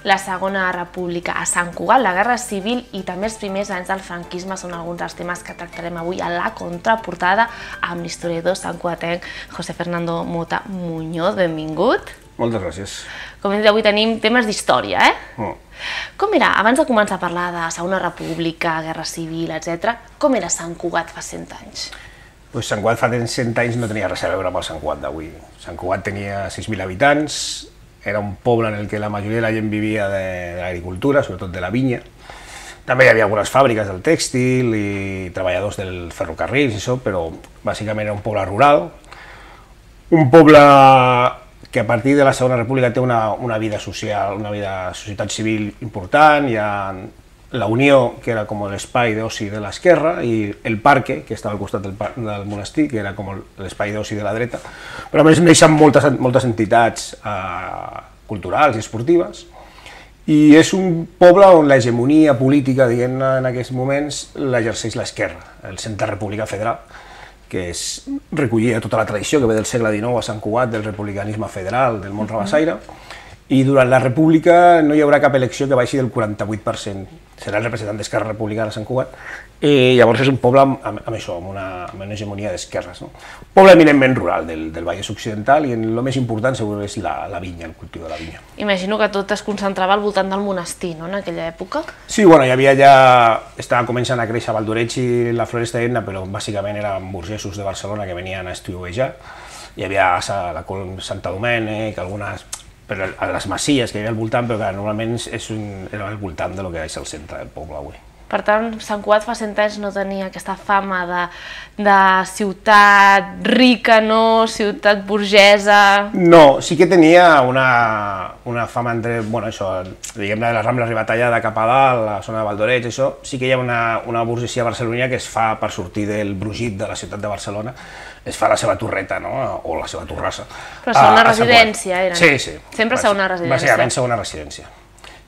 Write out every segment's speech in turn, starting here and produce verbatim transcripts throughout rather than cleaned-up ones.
la Segona República a Sant Cugat, la Guerra Civil i també els primers anys del franquisme són alguns dels temes que tractarem avui a la contraportada amb l'historiador santcugatenc José Fernando Mota Muñoz. Benvingut. Moltes gràcies. Com hem dit, avui tenim temes d'història, eh? Com era, abans de començar a parlar de Segona República, Guerra Civil, etcètera, com era Sant Cugat fa cent anys? Pues Sant Cugat fa cent anys no tenia res a veure amb el Sant Cugat d'avui. Sant Cugat tenia sis mil habitants, era un poble en el que la majoria de la gent vivia de, de l'agricultura, sobretot de la vinya. També hi havia algunes fàbriques del tèxtil i treballadors del ferrocarril, i això, però bàsicament era un poble rural. Un poble que a partir de la Segona República té una, una vida social, una vida societat civil important. Hi ha la Unió, que era com l'espai d'oci de l'esquerra, i el Parque, que estava al costat del, del monestir, que era com l'espai d'oci de la dreta. Però a més neixen moltes, moltes entitats eh, culturals i esportives, i és un poble on l'hegemonia política, diguem-ne, en aquests moments, l'exerceix l'esquerra, el Centre República Federal, que és recollia tota la tradició que ve del segle dinou a Sant Cugat, del republicanisme federal, del món rabassaire, i durant la República no hi haurà cap elecció que baixi del quaranta-vuit per cent. Serà el representant d'Esquerra Republicana a Sant Cugat. I llavors és un poble amb, amb, amb això, amb una, amb una hegemonia d'esquerres. No? Un poble eminentment rural del, del Vallès Occidental, i el més important segur és la, la vinya, el cultiu de la vinya. Imagino que tot es concentrava al voltant del monestir, no?, en aquella època. Sí, bueno, hi havia ja... Estava començant a créixer Valdoreig i la Floresta d'Etna, però bàsicament eren burgesos de Barcelona que venien a estiuejar. Hi havia la Santa Domènec, algunes... però a les masies que hi havia al voltant, però que normalment és un, era al voltant del que és el centre del poble avui. Per tant, Sant Cugat fa cent anys no tenia aquesta fama de, de ciutat rica, no? Ciutat burgesa... No, sí que tenia una, una fama entre, bueno, això, diguem-ne, de la Rambla Ribatallada cap a dalt, la zona de Valdoreig, això, sí que hi ha una, una burgesia barcelonina que es fa per sortir del brugit de la ciutat de Barcelona, es fa la seva torreta, no?, o la seva torrassa. Però segona residència eren? Sí, sí. Sempre segona residència? Bàsicament segona residència.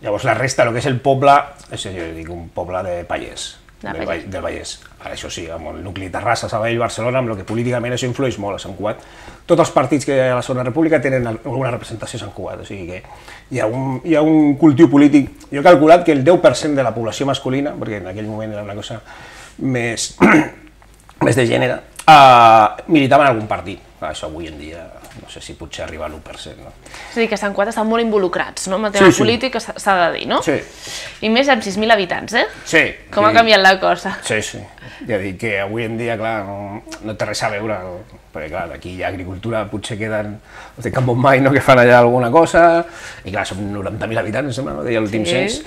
Llavors la resta, el que és el poble, és jo dic, un poble de pallers, del, del Vallès. Ara això sí, amb el nucli Terrassa, Sabadell, Barcelona, amb el que políticament això influeix molt a Sant Cugat. Tots els partits que hi ha a la Segona República tenen alguna representació a Sant Cugat, o sigui que hi ha un, hi ha un cultiu polític. Jo he calculat que el deu per cent de la població masculina, perquè en aquell moment era una cosa més, més de gènere, uh, militava en algun partit. Això avui en dia no sé si potser arriba a l'u per cent. No? És a dir, que Sant Cugat estan molt involucrats, no?, en el tema sí, sí. polític, s'ha de dir, no? Sí. I més amb sis mil habitants, eh? Sí. Com sí. ha canviat la cosa? Sí, sí. Ja dic que avui en dia, clar, no, no té res a veure, perquè clar, aquí hi ha agricultura, potser queden els de Can Montmany, no?, que fan allà alguna cosa, i clar, són noranta mil habitants, em sembla, no?, deia l'últim cens,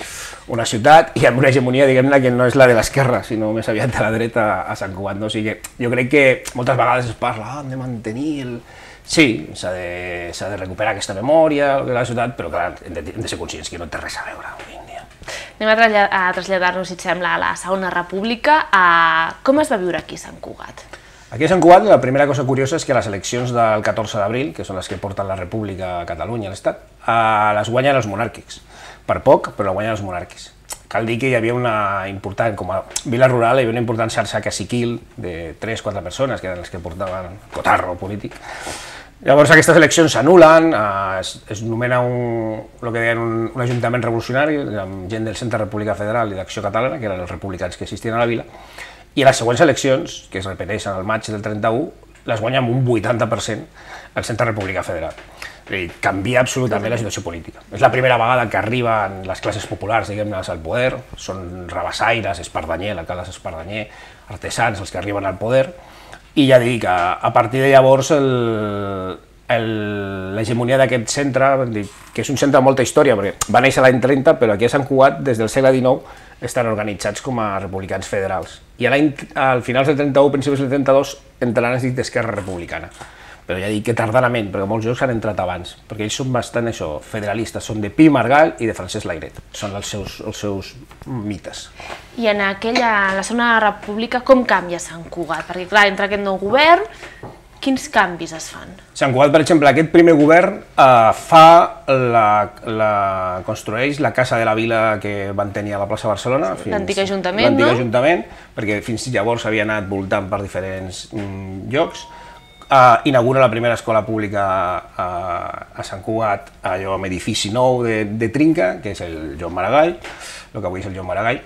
una ciutat, i amb una hegemonia, diguem-ne, que no és la de l'esquerra, sinó més aviat de la dreta a Sant Cugat, no? O sigui que jo crec que moltes vegades es parla, ah, hem de mantenir el... Sí, s'ha de, s'ha de recuperar aquesta memòria de la ciutat, però clar, hem de, hem de ser conscients que no té res a veure avui en dia. Anem a, traslladar, a traslladar-nos, si et sembla, a la Segona República. A... Com es va viure aquí a Sant Cugat? Aquí a Sant Cugat la primera cosa curiosa és que les eleccions del catorze d'abril, que són les que porten la República a Catalunya, a l'Estat, les guanyen els monàrquics. Per poc, però la guanyen els monàrquics. Cal dir que hi havia una important, com a vila rural, hi havia una important xarxa caciquil de tres o quatre persones, que eren les que portaven cotarro polític. Llavors aquestes eleccions s'anulen, es, es nomena un, el que deien un, un ajuntament revolucionari, amb gent del Centre República Federal i d'Acció Catalana, que eren els republicans que existien a la vila, i a les següents eleccions, que es repeteixen al maig del trenta-u, les guanya amb un vuitanta per cent el Centre República Federal. Canvia absolutament la situació política. És la primera vegada que arriben les classes populars, diguem-ne, al poder, són rabassaires, Espardanyer, l'alcalde Espardanyer, artesans, els que arriben al poder, i ja dic, a, a partir de llavors l'hegemonia d'aquest centre, que és un centre amb molta història, perquè va néixer l'any trenta, però aquí a Sant Cugat, des del segle dinou, estan organitzats com a republicans federals. I al finals del trenta-u, principis del trenta-dos, entraran els dic d'Esquerra Republicana. Però ja dic que tardanament, perquè molts jocs han entrat abans, perquè ells són bastant això, federalistes, són de Pi Margall i de Francesc Layret, són els seus, els seus mites. I en aquella, la Segona República, com canvia Sant Cugat? Perquè clar, entra aquest nou govern, quins canvis es fan? Sant Cugat, per exemple, aquest primer govern eh, fa, la, la, construeix la Casa de la Vila que van tenir a la plaça Barcelona. L'antic ajuntament, no? L'antic ajuntament, perquè fins llavors havia anat voltant per diferents mm, llocs. Uh, inaugura la primera escola pública a, a Sant Cugat, allò amb edifici nou de, de trinca, que és el Joan Maragall, el que avui és el Joan Maragall.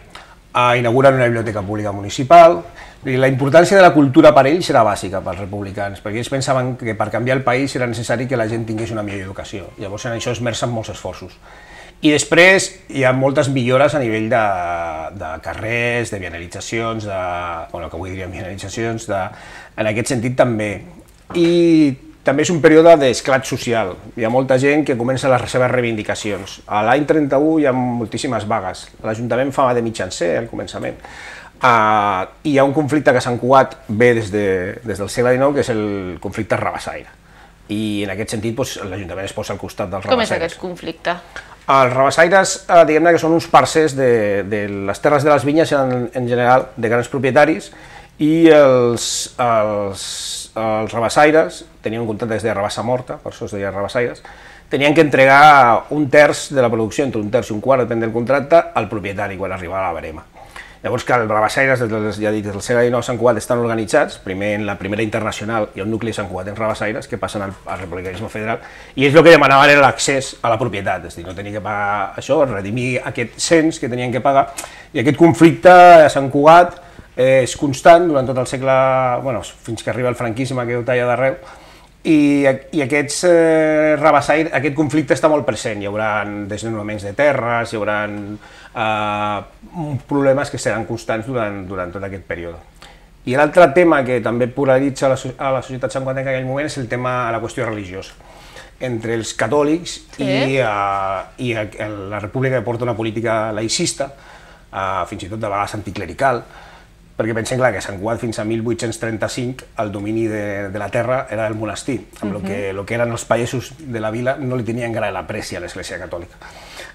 Uh, inauguren una biblioteca pública municipal. I la importància de la cultura per ells era bàsica pels republicans, perquè ells pensaven que per canviar el país era necessari que la gent tingués una millor educació. Llavors en això esmercen molts esforços. I després hi ha moltes millores a nivell de, de carrers, de vianalitzacions, de, bueno, que avui diríem vianalitzacions, de, en aquest sentit també. I també és un període d'esclat social. Hi ha molta gent que comença les seves reivindicacions. A l'any trenta-u hi ha moltíssimes vagues. L'Ajuntament fa de mitjancer al començament. Uh, hi ha un conflicte que a Sant Cugat ve des, de, des del segle dinou, que és el conflicte rabassaire. I en aquest sentit doncs, l'Ajuntament es posa al costat dels rabassaires. Com és aquest conflicte? Els rabassaires, eh, diguem-ne que són uns parcers de, de les terres de les vinyes en, en general, de grans propietaris, i els, els, els rabassaires, tenien un contracte des de rabassa morta, per això es deia rabassaires, tenien que entregar un terç de la producció, entre un terç i un quart, depèn del contracte, al propietari quan arribava a la verema. Llavors que els rabassaires, des del, ja dic, des del segle dinou a Sant Cugat estan organitzats, primer en la primera internacional i el nucli de Sant Cugat en rabassaires, que passen al, al republicanisme federal, i ells el que demanaven era l'accés a la propietat, és a dir, no tenien que pagar això, redimir aquest cens que tenien que pagar, i aquest conflicte a Sant Cugat és constant durant tot el segle, bueno, fins que arriba el franquisme que ho talla d'arreu, i, i aquests eh, rabassaires, aquest conflicte està molt present, hi haurà desnonaments de terres, hi haurà eh, problemes que seran constants durant, durant tot aquest període. I l'altre tema que també polaritza la, a la societat santcugatenca en aquell moment és el tema de la qüestió religiosa. Entre els catòlics sí. i, uh, i la República que porta una política laïcista, uh, fins i tot de vegades anticlerical, perquè pensem clar, que a Sant Cugat fins a mil vuit-cents trenta-cinc el domini de, de la terra era del monestir, amb el uh -huh. que, lo que eren els pagesos de la vila no li tenien gran apreci a l'Església Catòlica.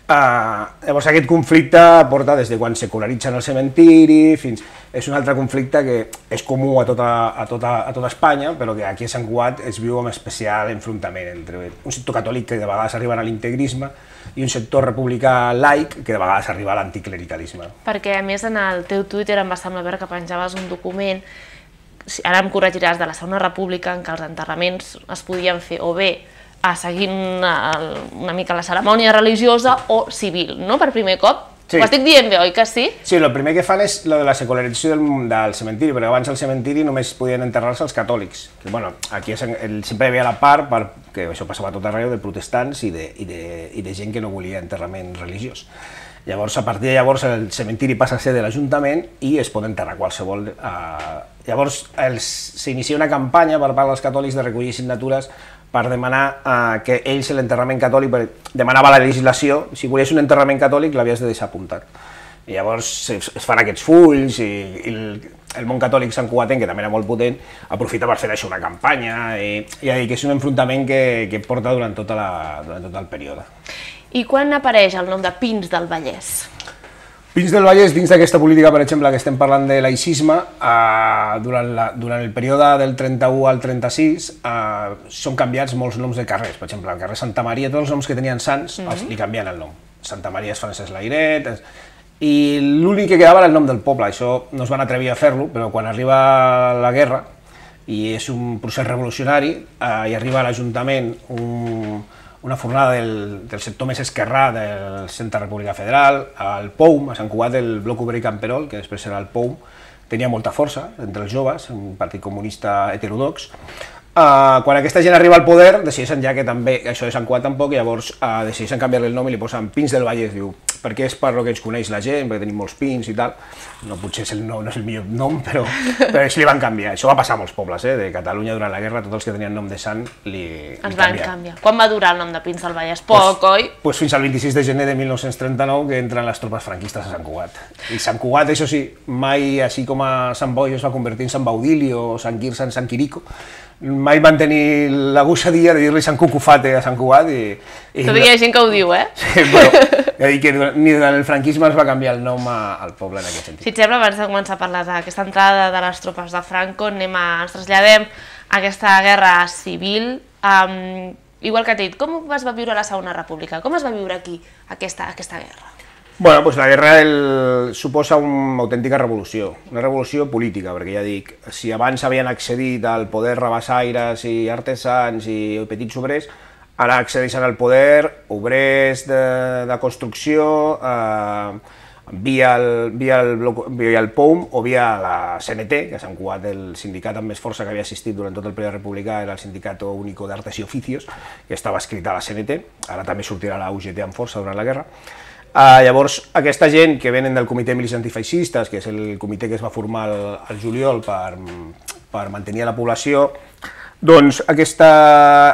Uh, llavors aquest conflicte porta des de quan secularitzen el cementiri fins... És un altre conflicte que és comú a tota, a tota, a tota Espanya, però que aquí a Sant Cugat es viu amb especial enfrontament entre un sector catòlic que de vegades arriba a l'integrisme i un sector republicà laic que de vegades arriba a l'anticlericalisme. Perquè a més en el teu Twitter em va semblar veure que penjaves un document, ara em corregiràs, de la Segona República, en què els enterraments es podien fer o bé a seguint una, una mica la cerimònia religiosa o civil, no? Per primer cop. Sí. Ho estic dient bé, oi que sí? Sí, el primer que fan és lo de la secularització del, del cementiri, perquè abans al cementiri només podien enterrar-se els catòlics. Que, bueno, aquí sempre hi havia la part, perquè això passava a tot arreu, de protestants i de, i, de, i de gent que no volia enterrament religiós. Llavors, a partir de llavors, el cementiri passa a ser de l'Ajuntament i es pot enterrar qualsevol... Eh, llavors, s'inicia una campanya per part dels catòlics de recollir signatures per demanar eh, que ells l'enterrament catòlic, demanava la legislació, si volies un enterrament catòlic l'havies de deixar apuntat. I llavors es, es fan aquests fulls i, i el, el món catòlic santcugatenc, que també era molt potent, aprofita per fer això una campanya i, i ja dic, és un enfrontament que, que porta durant, tota la, durant tot el període. I quan apareix el nom de Pins del Vallès? Pins del Vallès, dins d'aquesta política, per exemple, que estem parlant de laïcisme, eh, durant, la, durant el període del trenta-u al trenta-sis eh, són canviats molts noms de carrers. Per exemple, el carrer Santa Maria, tots els noms que tenien sants, mm -hmm. li canvien el nom. Santa Maria és Francesc Layret, és... i l'únic que quedava era el nom del poble. Això no es van atrevir a fer-lo, però quan arriba la guerra, i és un procés revolucionari, eh, i arriba a l'Ajuntament un... una fornada del, del sector més esquerrà del Centre República Federal, al P O U M, a Sant Cugat, el Bloc Obrer Camperol, que després serà el P O U M, tenia molta força entre els joves, un partit comunista heterodox. Uh, quan aquesta gent arriba al poder, decideixen ja que també, això de Sant Cugat tampoc, i llavors uh, decideixen canviar-li el nom i li posen Pins del Vallès, diu, perquè és per lo que ens coneix la gent, perquè tenim molts pins i tal. No, potser és el nom, no és el millor nom, però, però ells li van canviar. Això va passar a molts pobles, eh? De Catalunya durant la guerra, tots els que tenien nom de sant li, li van canviar. canviar. Quan va durar el nom de Pins del Vallès? Poc, pues, oi? Pues fins al vint-i-sis de gener de mil nou-cents trenta-nou, que entren les tropes franquistes a Sant Cugat. I Sant Cugat, això sí, mai, així com a Sant Boi es va convertir en Sant Baudili o Sant Quirze en Sant Quirico, mai van tenir la gosadia de dir-li Sant Cucufate a Sant Cugat i... i tot hi ha gent que ho diu, eh? Sí, però ja dic que ni durant el franquisme es va canviar el nom a, al poble en aquest sentit. Si et sembla, abans de començar a parlar d'aquesta entrada de les tropes de Franco, anem a, ens traslladem a aquesta guerra civil. Um, igual que t'he dit, com es va viure la Segona República? Com es va viure aquí aquesta, aquesta guerra? Bueno, doncs la guerra el, suposa una autèntica revolució, una revolució política, perquè ja dic, si abans havien accedit al poder rabassaires i artesans i petits obrers, ara accedeixen al poder obrers de, de construcció eh, via, el, via, el, via el P O U M o via la C N T, que a Sant Cugat el sindicat amb més força que havia assistit durant tot el període republicà era el Sindicato Único de Artes y Oficios, que estava escrit a la C N T, ara també sortirà la U G T amb força durant la guerra. Uh, llavors, aquesta gent que venen del Comitè Milícia Antifeixistes, que és el comitè que es va formar el, el juliol per, per mantenir la població, doncs aquesta,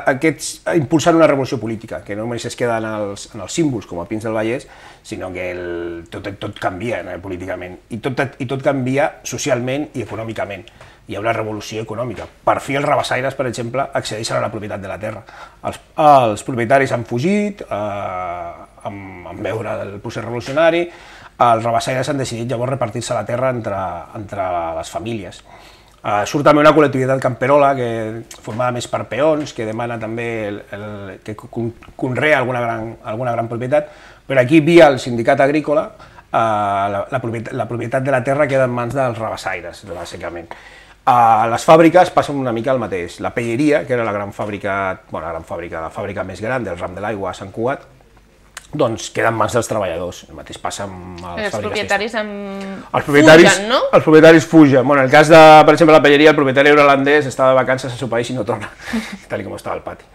aquests impulsen una revolució política, que no només es queda en els, en els símbols, com a Pins del Vallès, sinó que el, tot, tot canvia eh, políticament, i tot, i tot canvia socialment i econòmicament. Hi ha una revolució econòmica. Per fi els rabassaires, per exemple, accedeixen a la propietat de la terra. Els, els propietaris han fugit, eh, amb, amb veure el procés revolucionari, els rabassaires han decidit llavors repartir-se la terra entre, entre les famílies. Uh, surt també una col·lectivitat camperola que formada més per peons, que demana també el, el, que conrea alguna gran, alguna gran propietat, però aquí, via el sindicat agrícola, uh, la, la, propietat, la propietat de la terra queda en mans dels rabassaires, bàsicament. A les fàbriques passa una mica el mateix. La pelleria, que era la gran fàbrica, bueno, la gran fàbrica, la fàbrica més gran del ram de l'aigua a Sant Cugat, doncs queda en mans dels treballadors. El mateix passa amb les els fàbriques. Propietaris amb... Els propietaris fugen, no? Els propietaris fugen. Bueno, en el cas de, per exemple, la pelleria, el propietari holandès estava de vacances a seu país i no torna, tal com estava al pati.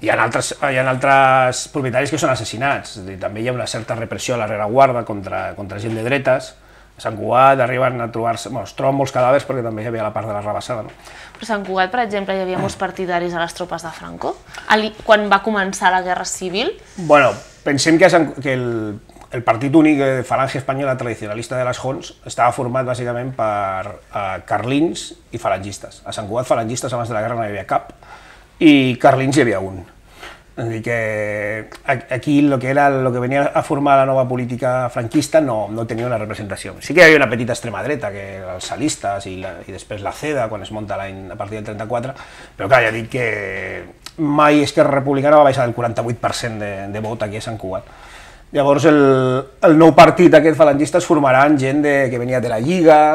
Hi ha altres, hi ha altres propietaris que són assassinats. També hi ha una certa repressió a la rereguarda contra, contra gent de dretes. A Sant Cugat arriben a trobar-se... Bueno, es troben molts cadàvers perquè també hi havia la part de la rabassada, no? Però a Sant Cugat, per exemple, hi havia molts partidaris a les tropes de Franco, quan va començar la Guerra Civil. Bueno, pensem que, Sant, que el, el Partit Únic de Falange Espanyola Tradicionalista de les Joncs estava format bàsicament per uh, carlins i falangistes. A Sant Cugat falangistes abans de la guerra no hi havia cap i carlins hi havia un. És a dir, que aquí el que, era, el que venia a formar la nova política franquista no, no tenia una representació. Sí que hi havia una petita extrema dreta, que els salistes i, la, i després la CEDA, quan es munta l'any a partir del trenta-quatre, però clar, ja dic que mai Esquerra Republicana va baixar del quaranta-vuit per cent de, de vot aquí a Sant Cugat. Llavors el, el nou partit aquest falangista es formarà en gent de, que venia de la Lliga,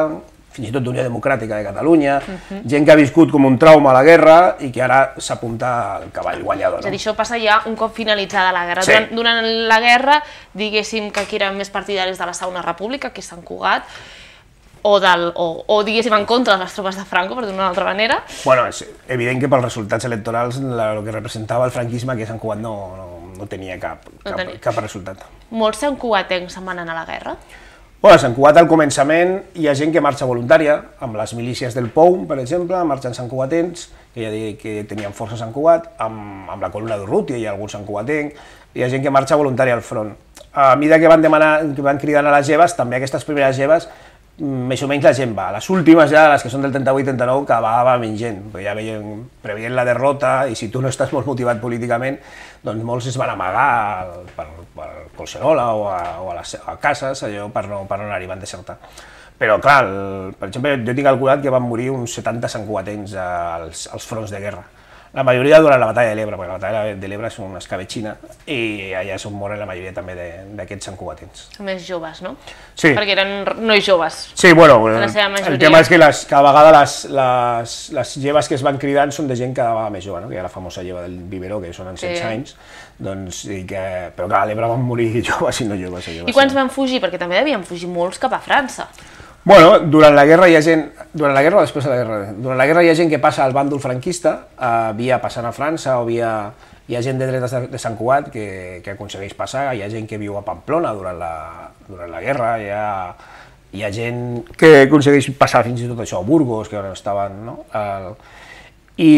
fins i tot d'Unió Democràtica de Catalunya, uh-huh. gent que ha viscut com un trauma a la guerra i que ara s'apunta al cavall guanyador. No? És a dir, això passa ja un cop finalitzada la guerra. Sí. Durant, durant la guerra, diguéssim que aquí eren més partidaris de la Segona República, que és Sant Cugat, o, del, o, o diguéssim en contra de les tropes de Franco, per d'una altra manera. Bueno, és evident que pels resultats electorals el que representava el franquisme que Sant Cugat no, no, no tenia cap, no cap, tenia. cap resultat. Molts santcugatencs se'n van anar a la guerra? Bueno, a Sant Cugat al començament hi ha gent que marxa voluntària, amb les milícies del P O U M, per exemple, marxen santcugatens, que ja dic que tenien força a Sant Cugat, amb, amb la columna d'Urrutia hi ha algun santcugatenc, hi ha gent que marxa voluntària al front. A mesura que van, demanar, que van cridant a les lleves, també aquestes primeres lleves, més o menys la gent va. Les últimes ja, les que són del trenta-vuit trenta-nou, que va, va menys gent, perquè ja veien, preveient la derrota, i si tu no estàs molt motivat políticament, doncs molts es van amagar per, per Collserola o a, o a les a cases, allò per no, per no anar-hi, van desertar. Però clar, el, per exemple, jo tinc calculat que van morir uns setanta santcugatens als, als fronts de guerra. La majoria durant la batalla de l'Ebre, perquè la batalla de l'Ebre és una escabetxina i allà és on moren la majoria també d'aquests santcugatens. Més joves, no? Sí. Perquè eren nois joves. Sí, bueno, la seva majoria. El tema és que les, cada vegada les, les, les lleves que es van cridant són de gent cada vegada més jove, no? Que hi ha la famosa lleva del biberó, que són en setze sí. anys, doncs, i que, però clar, a l'Ebre van morir joves i no joves. joves I quants van fugir? Perquè també devien fugir molts cap a França. Bueno, durant la guerra hi ha gent, durant la guerra o després de la guerra, durant la guerra hi ha gent que passa al bàndol franquista, eh, via passant a França o via, hi ha gent de dretes de, de Sant Cugat que, que aconsegueix passar, hi ha gent que viu a Pamplona durant la, durant la guerra, hi ha, hi ha gent que aconsegueix passar fins i tot això a Burgos, que on estaven, no? El, i,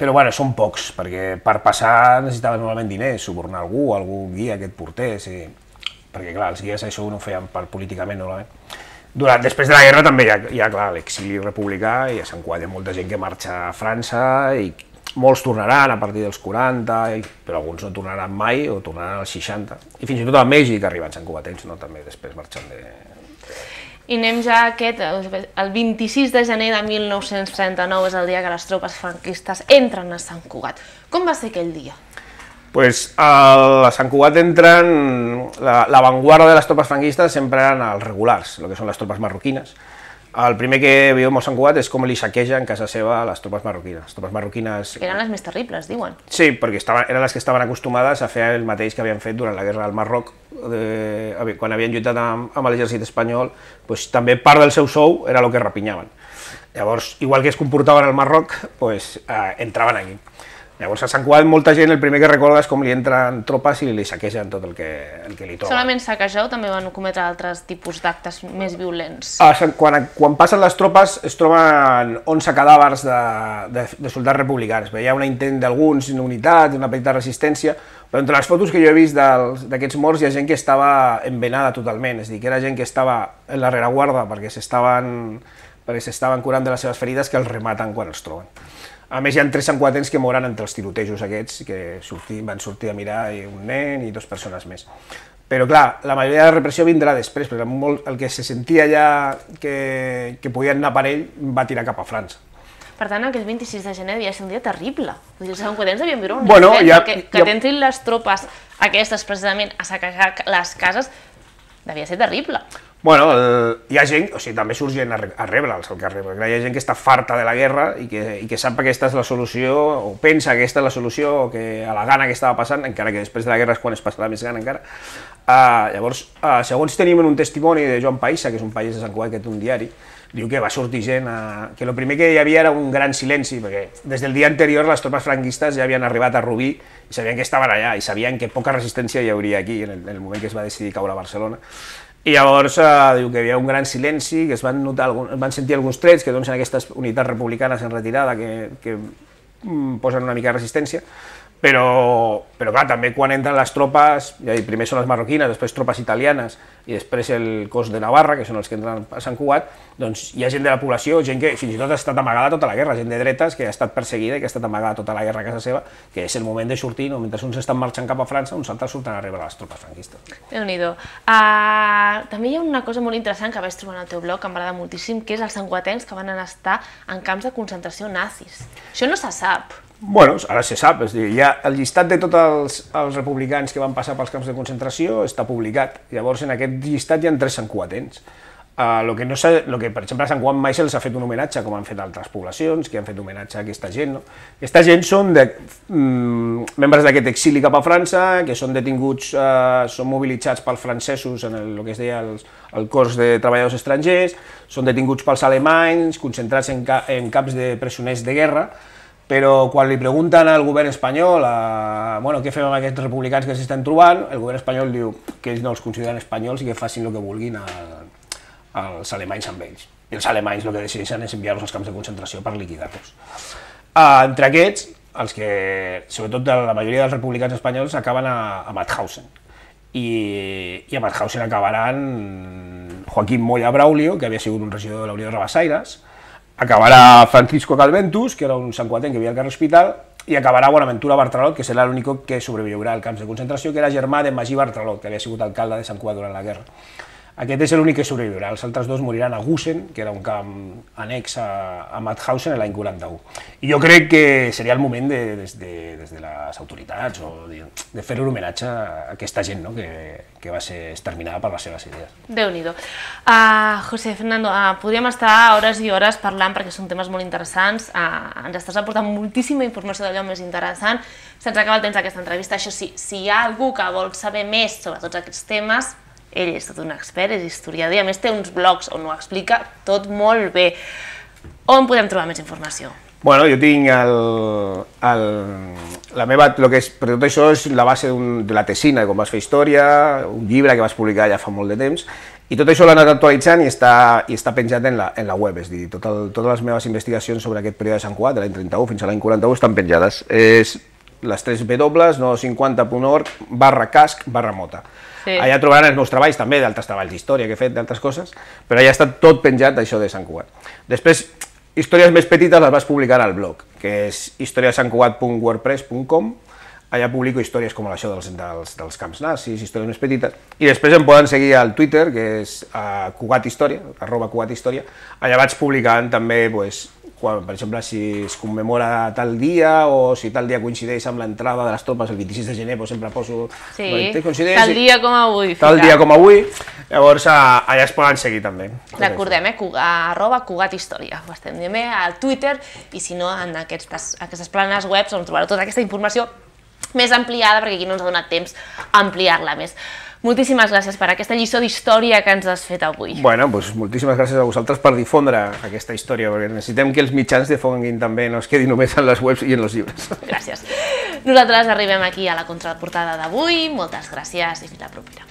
però bueno, són pocs, perquè per passar necessitaven normalment diners, subornar algú, algú guia que et portés, i, perquè clar, els guies això no ho feien per políticament normalment. Durant, després de la guerra també hi ha, hi ha clar, l'exili republicà i a Sant Cugat hi ha molta gent que marxa a França i molts tornaran a partir dels quaranta, i, però alguns no tornaran mai o tornaran als seixanta. I fins i tot a Mèxic arriben santcugatens, no? També després marxen de... I anem ja a aquest, el vint-i-sis de gener de mil nou-cents trenta-nou és el dia que les tropes franquistes entren a Sant Cugat. Com va ser aquell dia? Pues a Sant Cugat entran, la, la vanguardia de las tropas franquistas sempre eren els regulars, el que són les tropes marroquines. El primer que veiem a Sant Cugat és com li saquegen casa seva a les tropes marroquines. Les tropes marroquines... Que eren les més terribles, diuen. Sí, perquè estaven, eren les que estaven acostumades a fer el mateix que havien fet durant la guerra del Marroc, de, quan havien lluitat amb, amb l'exèrcit espanyol, doncs, també part del seu sou era el que rapinyaven. Llavors, igual que es comportaven al Marroc, doncs, eh, entraven aquí. Llavors, a Sant Cugat, molta gent, el primer que recorda és com li entren tropes i li saquegen tot el que, el que li troben. Solament saquejar o també van cometre altres tipus d'actes més violents? Ah, quan, quan passen les tropes es troben onze cadàvers de, de, de soldats republicans. Hi ha un intent d'alguns, una unitat, una petita resistència, però entre les fotos que jo he vist d'aquests morts hi ha gent que estava envenada totalment, és a dir, que era gent que estava en la rereguarda perquè s'estaven perquè s'estaven curant de les seves ferides que els rematen quan els troben. A més, hi ha tres santcugatens que moren entre els tirotejos aquests, que sortir, van sortir a mirar un nen i dues persones més. Però clar, la majoria de la repressió vindrà després, perquè molt, el que se sentia ja que, que podien anar per ell va tirar cap a França. Per tant, aquell vint-i-sis de gener devia ser un dia terrible. Vull dir, els santcugatens devien viure un bueno, infern, ja, que, que ja... t'entrin les tropes aquestes precisament a saquejar les cases devia ser terrible. Bueno, el, hi ha gent, o sigui, també surt gent a, a rebre'ls al carrer, perquè hi ha gent que està farta de la guerra i que, i que sap que aquesta és la solució, o pensa que aquesta és la solució, o que a la gana que estava passant, encara que després de la guerra és quan es passarà més gana encara. Uh, llavors, uh, segons tenim un testimoni de Joan Païssa, que és un país de Sant Cugat, que té un diari, diu que va sortir gent, a, que el primer que hi havia era un gran silenci, perquè des del dia anterior les tropes franquistes ja havien arribat a Rubí i sabien que estaven allà, i sabien que poca resistència hi hauria aquí en el, en el moment que es va decidir caure a Barcelona. I llavors eh, diu que hi havia un gran silenci, que es van, notar algun, es van sentir alguns trets, que doncs, en aquestes unitats republicanes en retirada que, que mm, posen una mica de resistència, però, però clar, també quan entren les tropes, ja dic, primer són les marroquines, després tropes italianes i després el cos de Navarra, que són els que entren a Sant Cugat, doncs hi ha gent de la població, gent que fins i tot ha estat amagada tota la guerra, gent de dretes que ha estat perseguida i que ha estat amagada tota la guerra a casa seva, que és el moment de sortir, no? Mentre uns estan marxant cap a França, uns altres surten a rebre les tropes franquistes. Déu-n'hi-do. Uh, també hi ha una cosa molt interessant que vaig trobar en el teu blog, que m'agrada moltíssim, que és els santcugatencs que van anar a estar en camps de concentració nazis. Això no se sap. Bueno, ara se sap, és a dir, ja el llistat de tots els, els republicans que van passar pels camps de concentració està publicat. Llavors, en aquest llistat hi ha tres santcugatens. Uh, lo que no lo que, per exemple, a Sant Cugat mai se'ls ha fet un homenatge, com han fet altres poblacions, que han fet homenatge a aquesta gent. No? Aquesta gent són de, mm, membres d'aquest exili cap a França, que són detinguts, uh, són mobilitzats pels francesos en el, el que es deia el, el cos de treballadors estrangers, són detinguts pels alemanys, concentrats en, ca en camps de presoners de guerra, però quan li pregunten al govern espanyol a, bueno, què fem amb aquests republicans que s'estan trobant, el govern espanyol diu que ells no els consideren espanyols i que facin el que vulguin a, als alemanys amb ells. I els alemanys el que decideixen és enviar-los als camps de concentració per liquidar-los. Uh, entre aquests, els que, sobretot la majoria dels republicans espanyols, acaben a, a Mauthausen. I, i a Mauthausen acabaran Joaquim Moya Braulio, que havia sigut un regidor de la Unió de Rabassaires, acabarà Francisco Calventus, que era un santcugatenc que vivia al carrer Hospital, i acabarà Bonaventura Bartralot, que serà l'únic que sobreviurà al camps de concentració, que era germà de Magí Bartralot, que havia sigut alcalde de Sant Cugat durant la guerra. Aquest és l'únic que sobreviurà, els altres dos moriran a Gusen, que era un camp annex a, a Mauthausen l'any quaranta-u. I jo crec que seria el moment de, des, de, des de les autoritats o de, de fer un homenatge a aquesta gent, no? que, que va ser exterminada per les seves idees. Déu-n'hi-do. Uh, José Fernando, uh, podríem estar hores i hores parlant perquè són temes molt interessants, uh, ens estàs aportant moltíssima informació d'allò més interessant, se'ns acaba el temps d'aquesta entrevista, això sí, si hi ha algú que vol saber més sobre tots aquests temes, ell és tot un expert, és historiador i a més té uns blogs on ho explica tot molt bé. On podem trobar més informació? Bueno, jo tinc el, el, la meva, lo que és, per tot això és la base un, de la tesina de com vas fer història, un llibre que vas publicar ja fa molt de temps, i tot això l'he anat actualitzant i està, i està penjat en la, en la web, és a dir, tot el, totes les meves investigacions sobre aquest període de Sant Cugat, de l'any trenta-u fins a l'any quaranta-u, estan penjades. És les tres W, no cinquanta punt org, barra casc, barra mota. Sí. Allà trobaran els meus treballs també, d'altres treballs d'història que he fet, d'altres coses, però allà està tot penjat d'això de Sant Cugat. Després, històries més petites les vas publicar al blog, que és historia de sant cugat punt wordpress punt com, allà publico històries com això dels, dels, dels camps nazis, històries més petites, i després em poden seguir al Twitter, que és uh, Cugat Història, arroba Cugat Història, allà vaig publicant també pues, quan, per exemple, si es commemora tal dia o si tal dia coincideix amb l'entrada de les tropes el vint-i-sis de gener, doncs sempre poso... Sí, tal dia com avui. Tal dia com avui, llavors allà es poden seguir també. Recordem, eh, arroba Cugat Història, ho estem dient bé, al Twitter, i si no, en aquestes, aquestes planes webs on trobareu tota aquesta informació més ampliada, perquè aquí no ens ha donat temps a ampliar-la més. Moltíssimes gràcies per aquesta lliçó d'història que ens has fet avui. Bueno, doncs moltíssimes gràcies a vosaltres per difondre aquesta història, perquè necessitem que els mitjans difonguin també, no es quedi només en les webs i en els llibres. Gràcies. Nosaltres arribem aquí a la contraportada d'avui. Moltes gràcies i fins la propera.